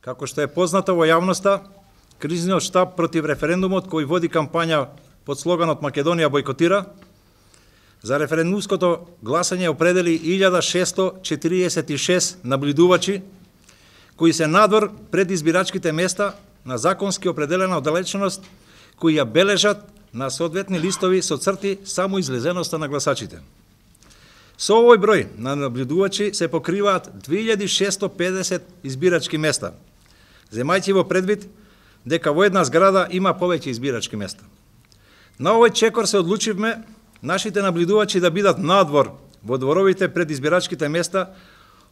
Како што е познато во јавноста, кризниот штаб против референдумот кој води кампања под слоганот Македонија бойкотира, за референдумското гласање определи 1646 наблюдувачи кои се надвор пред избирачките места на законски определена оддалеченост, кои ја бележат на соодветни листови со црти само излезеноста на гласачите. Со овој број на наблюдувачи се покриваат 2650 избирачки места, земајќи во предвид дека во една зграда има повеќе избирачки места. На овој чекор се одлучивме нашите наблюдувачи да бидат надвор во дворовите пред избирачките места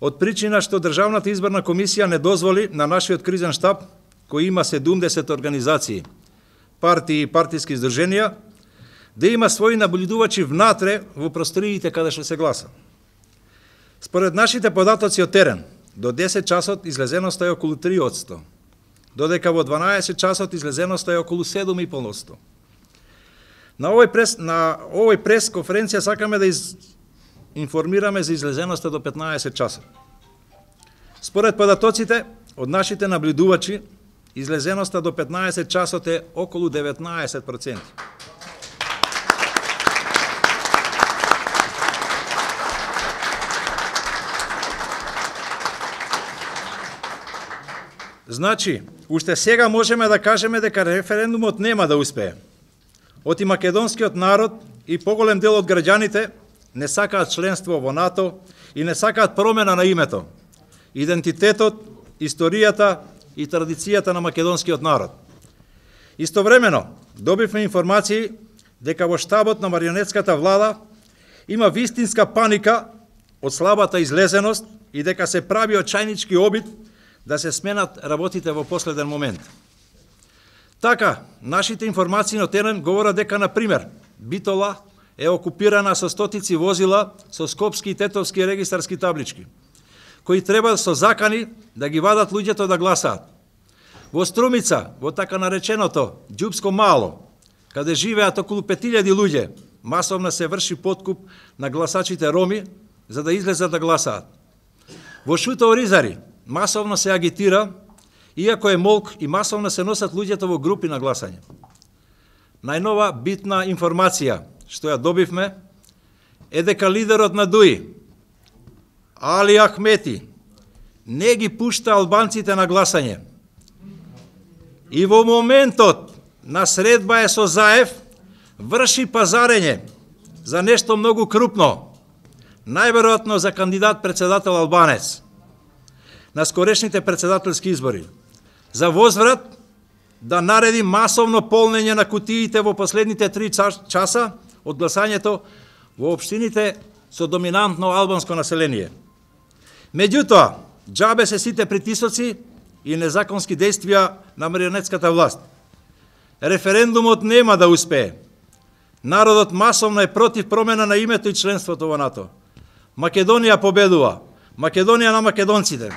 од причина што Државната изборна комисија не дозволи на нашиот кризен штаб, кој има 70 организации, партии и партиски издрженија, да има своји наблюдувачи внатре во просториите каде што се гласа. Според нашите податоци од терен, до 10 часот излезеноста е околу 3%, додека во 12 часот излезеноста е околу 7,5%. На овој прес конференција сакаме да информираме за излезеноста до 15 часот. Според податоците од нашите наблюдувачи, излезеноста до 15 часот е околу 19%. Значи, уште сега можеме да кажеме дека референдумот нема да успее. Оти македонскиот народ и поголем дел од граѓаните не сакаат членство во НАТО и не сакаат промена на името, идентитетот, историјата и традицијата на македонскиот народ. Истовремено, добивме информации дека во штабот на марионетската влада има вистинска паника од слабата излезеност и дека се прави очајнички обид да се сменат работите во последен момент. Така, нашите информации на терен говорат дека, например, Битола е окупирана со стотици возила со скопски и тетовски регистарски таблички, кои треба со закани да ги вадат луѓето да гласаат. Во Струмица, во така нареченото Ѓупско мало, каде живеат околу 5000 луѓе, масовно се врши подкуп на гласачите роми за да излезат да гласаат. Во Шуто Оризари масовно се агитира, иако е молк, и масовно се носат луѓето во групи на гласање. Најнова битна информација што ја добивме е дека лидерот на ДУИ, Али Ахмети, не ги пушта албанците на гласање. И во моментот на средба е со Заев, врши пазарење за нешто многу крупно, најверојатно за кандидат председател албанец на скорешните председателски избори, за возврат да нареди масовно полнење на кутиите во последните 3 часа од гласањето во општините со доминантно албанско население. Меѓутоа, џабе се сите притисоци и незаконски действија на марионетската власт. Референдумот нема да успее. Народот масовно е против промена на името и членството во НАТО. Македонија победува. Македонија на македонците.